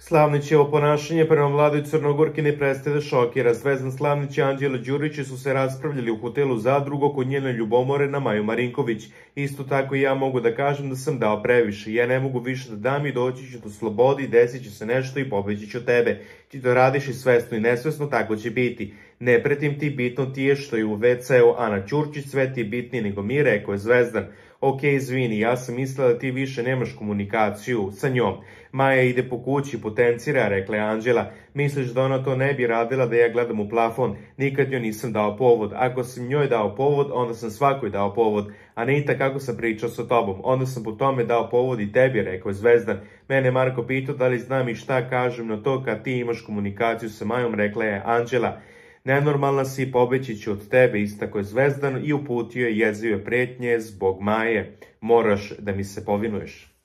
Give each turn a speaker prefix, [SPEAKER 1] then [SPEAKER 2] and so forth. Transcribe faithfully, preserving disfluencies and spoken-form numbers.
[SPEAKER 1] Slavnićevo ponašanje prema mladoj Crnogorki ne prestaje da šokira. Zvezdan Slavnić i Anđela Đurić su se raspravljali u hotelu Zadrugo kod njene ljubomore na Maju Marinković. Isto tako i ja mogu da kažem da sam dao previše. Ja ne mogu više da dam i doći ću do slobode i desit će se nešto i pobeći ću tebe. Ti to radiš i svesno i nesvesno, tako će biti. Ne pretim ti, bitno ti je što je u ve ceu Ana Ćurčić, sve ti je bitnije nego mi, rekao je Zvezdan. Ok, izvini, ja sam mislila da ti više nemaš komunikaciju sa njom. Maja ide po kući, potencira, rekla je Anđela. Misliš da ona to ne bi radila da ja gledam u plafon? Nikad joj nisam dao povod. Ako sam njoj dao povod, onda sam svakoj dao povod. A ne i tako sam pričao sa tobom. Onda sam po tome dao povod i tebi, rekao je Zvezdan. Mene Marko pitao da li znam i šta kažem na to kad ti imaš komunikaciju sa Majom, rekla je Anđela. Nenormalna si, pobeći ću od tebe, istako je Zvezdan i uputio je jezive pretnje zbog Maje. Moraš da mi se povinuješ.